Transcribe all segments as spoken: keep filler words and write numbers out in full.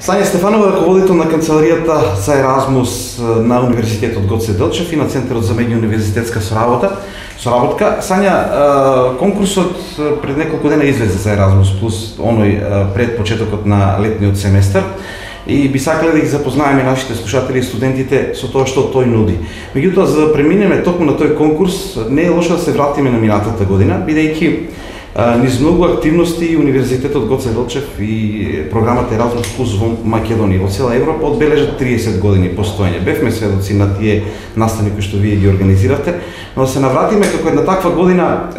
Сања Стефанова, раководител на канцеларијата за Еразмус на Универзитетот Гоце Делчев и на Центарот за меѓууниверзитетска соработа. Соработка. Сања, конкурсот пред неколку дена излезе за Еразмус плюс, оној пред почетокот на летниот семестар. И би сакале да ги запознаеме нашите слушатели и студентите со тоа што тој нуди. Меѓутоа, за да преминеме токму на тој конкурс, не е лошо да се вратиме на минатата година, бидејќи низ многу активности Универзитетот Гоце Делчев и програмата Еразмус плюс во Македонија, во цела Европа одбележат триесет години постоење. Бевме сведоци на тие настани кои што вие ги организиравте, но да се навратиме како една таква година,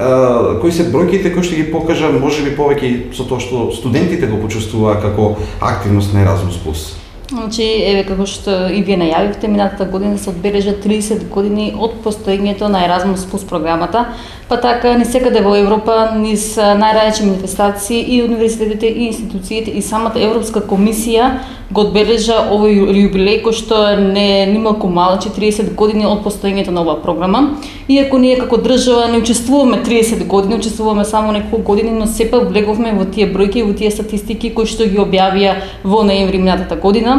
кои се бројките кои што ги покажа, можеби повеќе со тоа што студентите го почувствуваа како активност на Еразмус плюс. Значи, еве како што и вие најавивте, минатата година се одбележа триесет години од постоењето на Еразмус плюс програмата, па така ни секаде во Европа, низ најразлични манифестации и универзитетите и институциите и самата Европска комисија го одбележа овој јубилеј кој што не нималку мал, че триесет години од постоењето на оваа програма. Иако ние како држава не учествуваме триесет години, учествуваме само неколку години, но сепак влеговме во тие бројки, во тие статистики кои што ги објавија во ноември минатата година.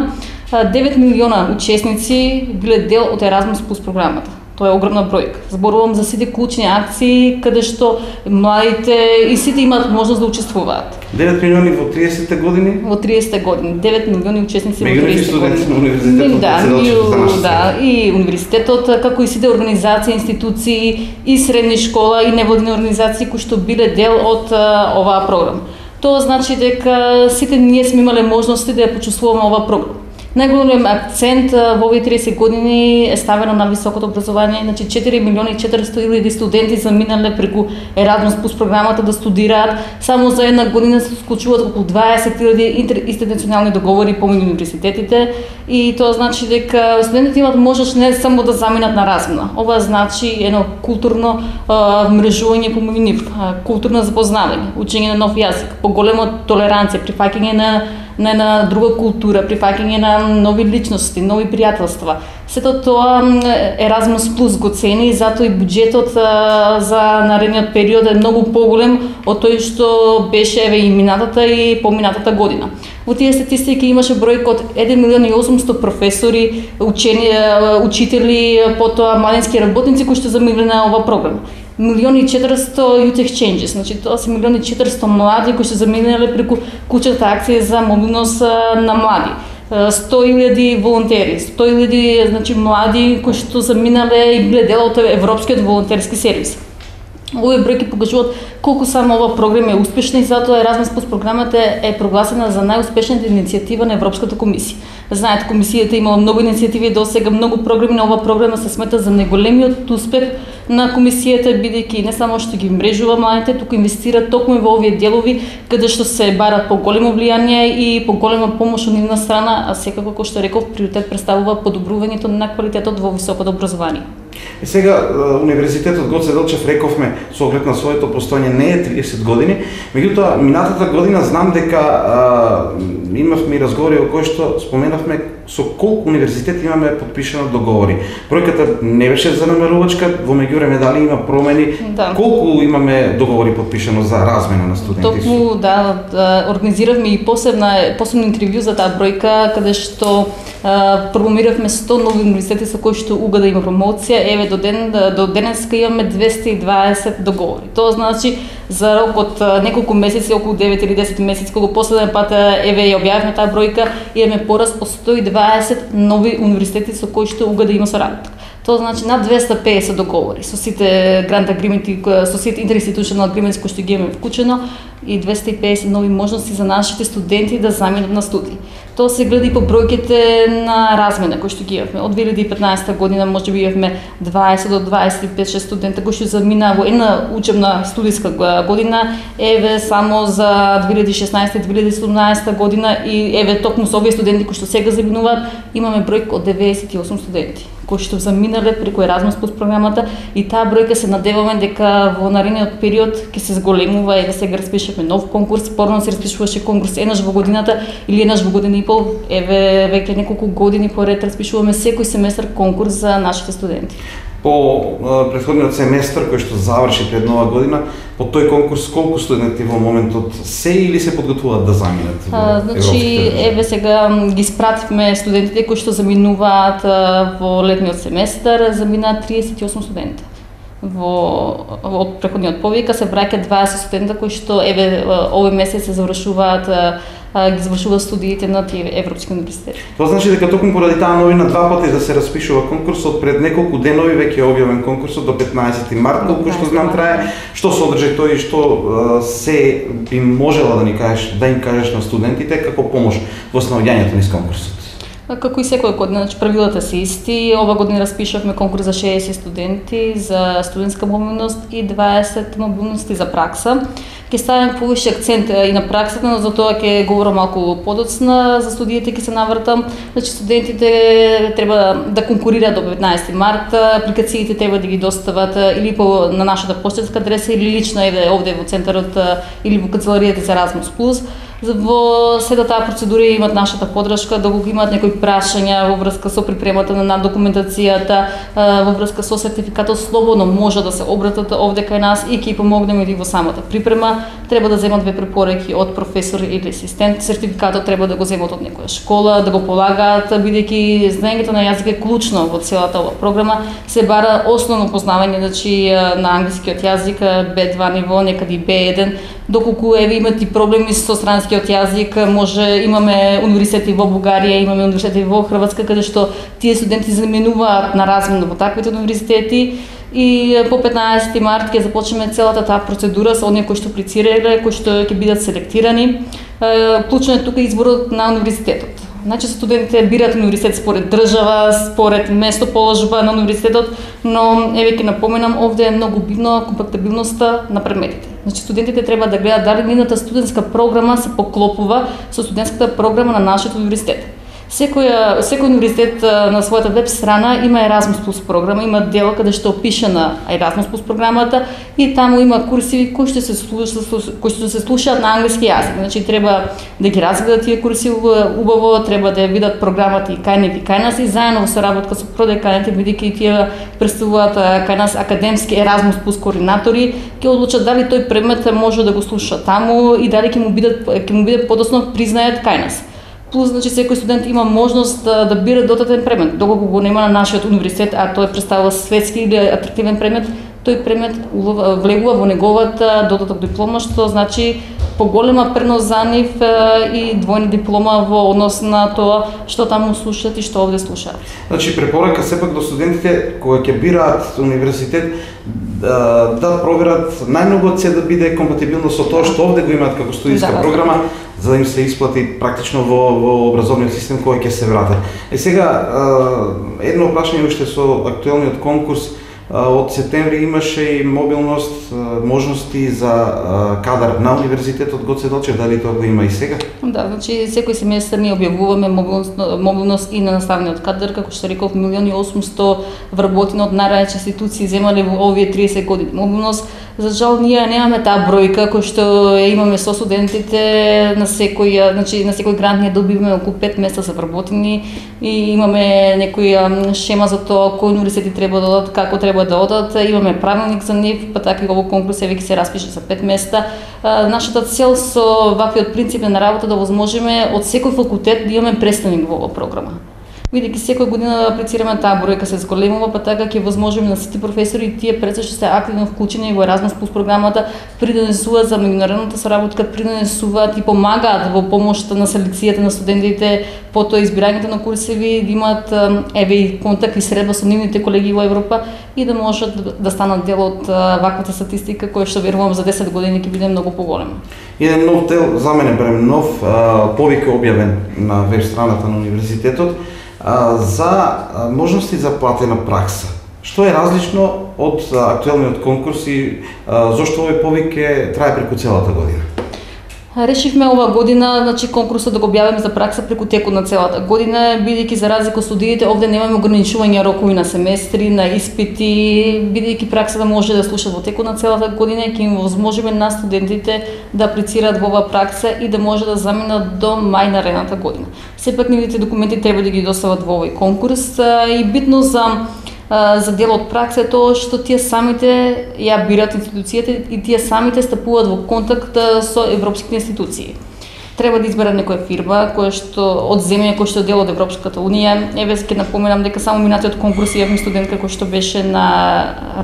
девет милиона учесници биле дел од Еразмус плюс програмата. Тоа е огромна бројка. Зборувам за сите клучни акции каде што младите и сите имаат можност да учествуваат. девет милиони во триесетте години? Во триесетте години. девет милиони учесници во триесетте години. Меѓу студенти на универзитетот. Да, и, да, и универзитетот, како и сите организации, институции и средни школа и невладини организации кои што биле дел од оваа програма. Тоа значи дека сите ние сме имале можности да ја почувствуваме оваа програма. Најголем акцент во овие триесет години е ставено на високото образование, значи четири милиони и четиристотини илјади студенти заминале преку Еразмус плюс програмата да студираат. Само за една година се склучуваат околу дваесет илјади интеринституционални договори помеѓу универзитетите и тоа значи дека студентите имаат можност не само да заминат на размена. Ова значи едно културно мрежување помеѓу нив, културно запознавање, учење на нов јазик, поголема толеранција, прифаќање на на една друга култура, прифаќање на нови личности, нови пријателства. Сето тоа Еразмус плюс го цени и затоа и буџетот за наредниот период е многу поголем од тој што беше еве и минатата и поминатата година. Во тие статистики имаше бројка од еден милион и осумстотини професори, учени, учители, потоа младински работници кои што заминале на оваа програма. милион и четиристотини youth exchanges, значи тоа се милион и четиристотини млади кои се заминале преку кучната акција за мобилност на млади. сто илјади волонтери, сто илјади значи млади кои што заминале и биле дел од Европскиот волонтерски сервис. Овие бројки покажуваат колку само ова програма е успешна и затоа Еразмус плюс програмата е прогласена за најуспешната иницијатива на Европската комисија. Знаете, комисијата имала многу иницијативи до сега, многу програми, на ова програма се смета за најголемиот успех на комисијата, бидејќи не само што ги мрежува младите, туку инвестира токму во овие делови каде што се барат поголемо влијание и поголема помош од нивна страна, а секако кој што реков приоритет представува подобрувањето на квалитетот во високото образование. И сега Универзитетот Гоце Делчев, рековме, со оглед на своето постоење не е триесет години, меѓутоа минатата година знам дека а, имавме и разговори во кои што споменавме со колку универзитети имаме подпишано договори. Бројката не беше занемарувачка, во меѓувреме дали има промени, да. Колку имаме договори подпишано за размена на студенти? Токму, да, да, организиравме и посебна посебно интервју за таа бројка, каде што а, промомиравме сто нови универзитети со кои што уга да има промоција. Еве до ден до денеска имаме двесте и дваесет договори. Тоа значи за рок од неколку месеци, околу девет или десет месеци, кога последен пат еве ја објавивме таа бројка, имаме пораст од сто и дваесет нови универзитети со кои што уга да има соработка. Тоа значи над двесте и песет договори со сите грант агрименти, со сите интеринституционални агрименти кои што ги имаме вклучено и двесте и песет нови можности за нашите студенти да заминат на студии. Тоа се гледа и по бројките на размена кои што ги имавме. Од две илјади и петнаесета година можеби имавме дваесет до дваесет и пет шест студента кои што замина во една учебна студиска година, еве само за две илјади и шеснаесета две илјади и седумнаесета година и еве токму со овие студенти кои што сега заминуваат, имаме бројка од деветдесет и осум студенти кои што заминале преку Еразмус плюс програмата и таа бројка се надеваме дека во наредниот период ќе се зголемува. Еве сега распишавме нов конкурс, порано се распишуваше конкурс еднаш во годината или еднаш во година и пол. Еве веќе неколку години поред распишуваме секој семестар конкурс за нашите студенти. По претходниот семестар кој што заврши пред нова година, по тој конкурс колку студенти во моментот се или се подготвуваат да заминат? А, значи, еве сега ги спративме студентите кои што заминуваат во летниот семестар, заминаа триесет и осум студента. Во од претходниот повика се враќаат дваесет студента кои што еве овој месец се завршуваат ги завршуваат студиите на тие европски универзитети. Тоа значи дека токму поради таа новина два пати да се распишува конкурсот, пред неколку денови веќе е објавен конкурсот до петнаесети март, колку што знам трае. Што содржи тој и што се би можела да ни кажеш, да им кажеш на студентите како помош во снаоѓањето низ конкурсот? Како и секоја година, значи правилата се исти. Ова година распишавме конкурс за шеесет студенти за студентска мобилност и дваесет мобилности за пракса. Ќе ставиме повише акцент и на праксата, но за тоа ќе говорам малку подоцна, за студиите ќе се навртам. Значи студентите треба да конкурираат до петнаесети март, апликациите треба да ги достават или по на нашата поштенска адреса или лично еве овде во центарот или во канцеларијата за Erasmus+. Во сета таа процедура имат нашата поддршка, да го имаат некои прашања во врска со припремата на документацијата, во врска со сертификатот, слободно може да се обратат овде кај нас и ќе помогнеме и во самата припрема. Треба да земат две препораки од професор или асистент. Сертификатот треба да го земат од некоја школа, да го полагаат, бидејќи знаењето на јазик е клучно во целата ова програма. Се бара основно познавање, значи на англискиот јазик, Б два ниво, некаде и Б еден, доколку еве имат и проблеми со странскиот јазик, може имаме универзитети во Бугарија, имаме универзитети во Хрватска, каде што тие студенти заменуваат на размена во таквите универзитети. И по петнаесети март ќе започнеме целата таа процедура со оние кои што аплицирале, кои што ќе бидат селектирани. Клучно е тука изборот на универзитетот. Значи студентите бираат универзитет според држава, според местоположба на универзитетот, но еве ќе напоменам, овде е многу битно компактабилноста на предметите. Значи студентите треба да гледаат дали нивната студентска програма се поклопува со студентската програма на нашиот универзитет. Секој секој универзитет на својата веб страна има Erasmus+ програма, има дел каде што опишана Erasmus+ програмата и таму има курсиви кои што се слушаат, кои што се слушаат на англиски јазик. Значи треба да ги разгледат тие курсиви убаво, треба да ја видат програмата и кај нив и кај нас и заедно во соработка со продеканите, бидејќи тие представуваат кај нас академски Erasmus+ координатори, ќе одлучат дали тој предмет може да го слуша таму и дали ќе му бидат ќе му биде подоцна признаат кај нас. Плюс, значи, секој студент има можност да, да бира дотатен предмет. Доколку го нема на нашиот универзитет, а тој представува светски или атрактивен предмет, тој предмет влегува во неговата дотаток диплома, што значи поголема пренос за нив и двојна диплома во однос на тоа што таму слушаат и што овде слушаат. Значи препорака сепак до студентите кои ќе бираат универзитет да, да проверат најмногу од се да биде компатибилно со тоа што овде го имаат како студиска да, програма, за да им се исплати практично во, во образовниот систем кој ќе се врати. Е сега едно прашање уште со актуелниот конкурс. Од септември имаше и мобилност, можности за кадар на универзитетот Гоце Делчев, дали тоа го има и сега? Да, значи секој семестар ние објавуваме мобилност, мобилност и на наставниот кадар, како што реков, милиони и осумсто вработени од најразлични институции земале во овие триесет години мобилност. За жал ние немаме таа бројка кој што имаме со студентите на секој, значи на секој грант ние добиваме околу пет места за вработени и имаме некоја шема за тоа кои универзитети треба да одат, како треба да одат, имаме правилник за нив, па така и овој конкурс еве ќе се распише за пет места. Нашата цел со ваквиот принцип на работа да возможиме од секој факултет да имаме представник во оваа програма. Бидејќи секоја година да аплицираме таа бројка се зголемува, па така ќе возможиме на сите професори и тие пред што се активно вклучени во Erasmus+ програмата, придонесуваат за меѓународната соработка, придонесуваат и помагаат во помошта на селекцијата на студентите, потоа избирањето на курсеви, да имаат еве и контакт и средба со нивните колеги во Европа и да можат да станат дел од ваквата статистика која што верувам за десет години ќе биде многу поголема. Еден нов дел, за мене барем нов, повик е објавен на веб страната на универзитетот за можности за платена пракса. Што е различно од актуелниот конкурс и зошто овој повик е трае преку целата година? Решивме ова година, значи конкурсот да го објавиме за пракса преку текот на целата година, бидејќи за разлика од студиите овде немаме ограничување рокови на семестри, на испити, бидејќи праксата може да слушат во текот на целата година и ќе им возможиме на студентите да аплицираат во оваа пракса и да може да заминат до мај наредната година. Сепак нивните документи треба да ги достават во овој конкурс и битно за за дел од пракса е тоа што тие самите ја бират институцијата и тие самите стапуваат во контакт со европските институции. Треба да изберат некоја фирма која што од земја која што е дел од Европската унија. Еве ќе напоменам дека само минатиот конкурс имавме студентка која што беше на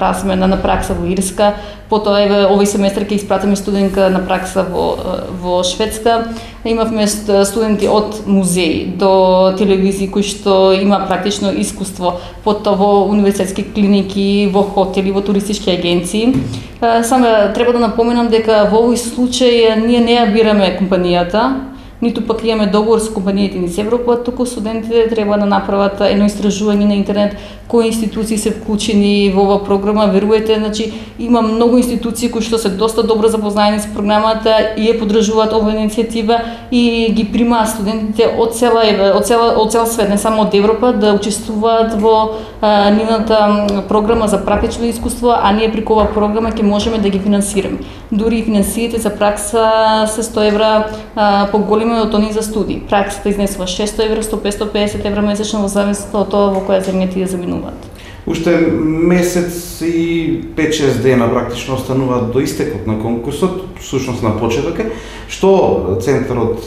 размена на пракса во Ирска, потоа еве овој семестар ќе испратиме студентка на пракса во во Шведска. Имавме студенти од музеи до телевизии кои што има практично искуство, потоа во универзитетски клиники, во хотели, во туристички агенции. Само треба да напоменам дека во овој случај ние не ја бираме компанијата, ниту пак имаме договор со компаниите низ Европа, туку студентите треба да направат едно истражување на интернет кои институции се вклучени во оваа програма. Веруете, значи има многу институции кои што се доста добро запознаени со програмата и ја поддржуваат оваа иницијатива и ги примаат студентите од цела од цела од цел свет, не само од Европа, да учествуваат во а, нивната програма за практично искуство, а ние преку оваа програма ќе можеме да ги финансираме. Дури и финансиите за пракса се сто евра а, поголеми од они за студии. Праксата изнесува шесто евра, сто петsto педесет евра месечно во зависност од тоа во која земја тие заминуваат. Уште месец и пет-шест дена практично остануваат до истекот на конкурсот, всушност на почеток е, што центарот,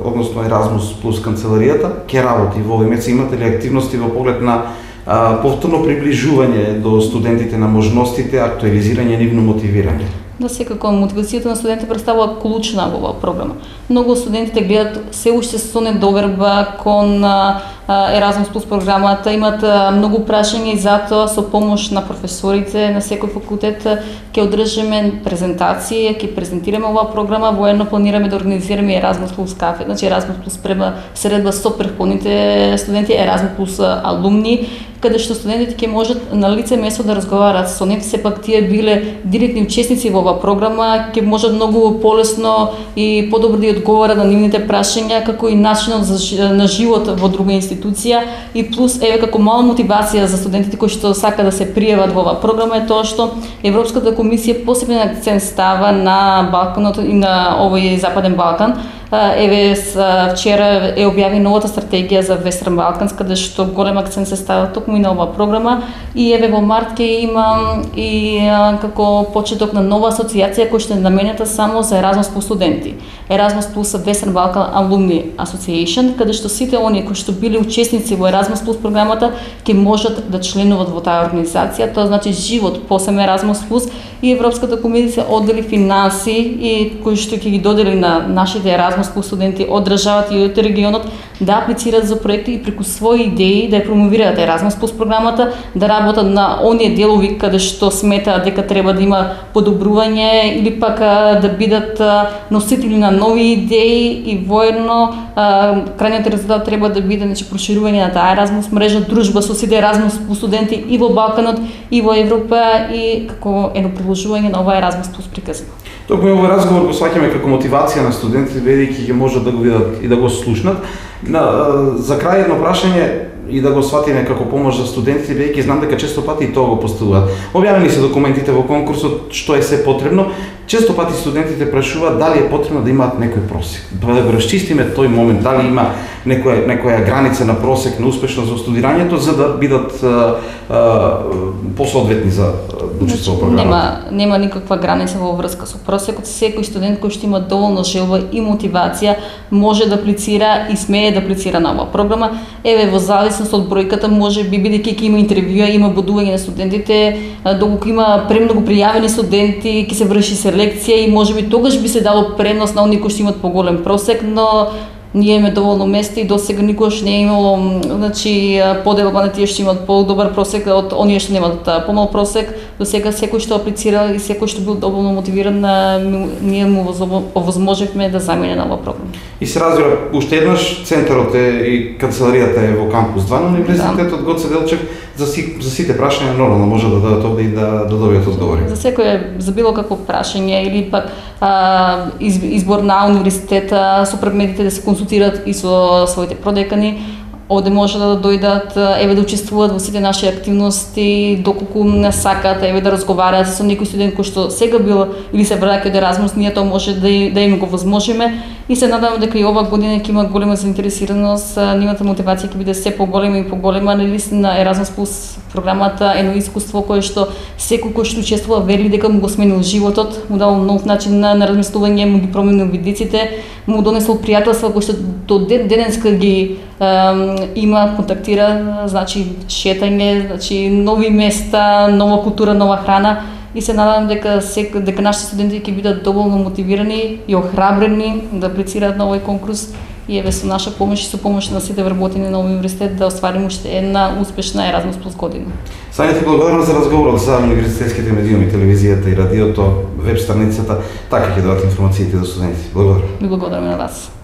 односно Еразмус плюс канцеларијата, ќе работи во овој месец. Имате ли активности во поглед на а, повторно приближување до студентите на можностите, актуализирање, нивно мотивирање? Да, секако мотивацијата на студентите представува клучна во оваа програма. Многу студентите гледат се уште со недоверба кон Еразмус плюс програмата, имаат многу прашања и затоа со помош на професорите на секој факултет ќе одржиме презентации, ќе презентираме оваа програма, воедно планираме да организираме Еразмус плюс кафе, значи Еразмус плюс средба со претходните студенти, Еразмус плюс алумни, каде што студентите ќе можат на лице место да разговараат со нив, сепак тие биле директни учесници во оваа програма, ќе можат многу полесно и подобро да одговарат на нивните прашања, како и начинот за, на живот во друга институција, и плюс еве како мала мотивација за студентите кои што сака да се пријават во оваа програма е тоа што Европската комисија посебен акцент става на Балканот и на овој Западен Балкан. Еве вчера е објави новата стратегија за Вестерн Балканс, каде што голем акцент се става токму и на оваа програма, и еве во март ќе има и како почеток на нова асоциација која што е наменета само за Еразмус плюс студенти. Еразмус плюс Western Balkan Alumni Association, каде што сите оние кои што биле учесници во Еразмус плюс програмата ќе можат да членуват во таа организација. Тоа значи живот посебно Еразмус плюс, и Европската комисија оддели финанси и кои што ќе ги додели на нашите Еразмус плюс студенти од државата и од регионот да аплицираат за проекти и преку своји идеи да ја промовираат Еразмус плюс програмата, да работат на оние делови каде што сметаат дека треба да има подобрување или пак да бидат носители на нови идеи, и воедно крајниот резултат треба да биде значи проширување на таа Еразмус мрежа, дружба со сите Еразмус плюс студенти и во Балканот и во Европа, и како едно продолжување на оваа Еразмус плюс приказна. Токму овој разговор го сваќаме како мотивација на студентите, бидејќи ќе можат да го видат и да го слушнат. На, за крај едно прашање и да го сватиме како помош за студентите, бидејќи знам дека често пати и тоа го поставуваат. Објавени се документите во конкурсот, што е се потребно. Често пати студентите прашуваат дали е потребно да имаат некој просек. Да го расчистиме тој момент, дали има некоја некоја граница на просек на успешност во студирањето за да бидат а, а, посоодветни за учество во програмата. Нема нема никаква граница во врска со просекот. Секој студент кој што има доволно желба и мотивација може да аплицира и смее да аплицира на оваа програма. Еве во зависност од бројката, може би бидејќи ќе има интервјуа, има бодување на студентите, доколку има премногу пријавени студенти, ќе се врши селекција и можеби тогаш би се дало предност на оние кои што имаат поголем просек, но ние имаме доволно место и досега никогаш не е имало значи поделба на тие што имаат подобар просек од оние што немаат помал просек. Досега секој што аплицира и секој што бил доволно мотивиран, ние му овозможивме да замине на оваа програма. И се разбира, уште еднаш центарот е и канцеларијата е во кампус два на Универзитетот Гоце Делчев. За, си, за сите прашања нормално може да дадат овде и да, да добијат одговори. За секој, за било какво прашање или пак а, из, избор на универзитета, со предметите да се консултираат и со своите продекани, овде може да дојдат, еве да учествуваат во сите наши активности, доколку не сакаат, еве да разговараат со некој студент кој што сега бил или се враќа од Еразмус, ние тоа може да, да им го возможиме. и се надевам дека и ова година ќе има голема заинтересираност, нивната мотивација ќе биде се поголема и поголема. Наистина Еразмус плюс програмата е едно искуство кое што секој кој што учествува вери дека му го сменил животот, му дал нов начин на, на размислување, му ги променил видиците, му донесол пријателства кои што до ден денеска ги е, има, контактира, значи шетање, значи нови места, нова култура, нова храна. И се надевам дека сек, дека нашите студенти ќе бидат доволно мотивирани и охрабрени да аплицираат на овој конкурс и еве со наша помош и со помош на сите вработени на овој универзитет да остварим уште една успешна Еразмус плюс година. Сања, ти благодарам за разговорот за универзитетските медиуми, телевизијата и радиото, веб страницата, така ќе дадат информациите за студенти. Благодарам. Ви благодарам на вас.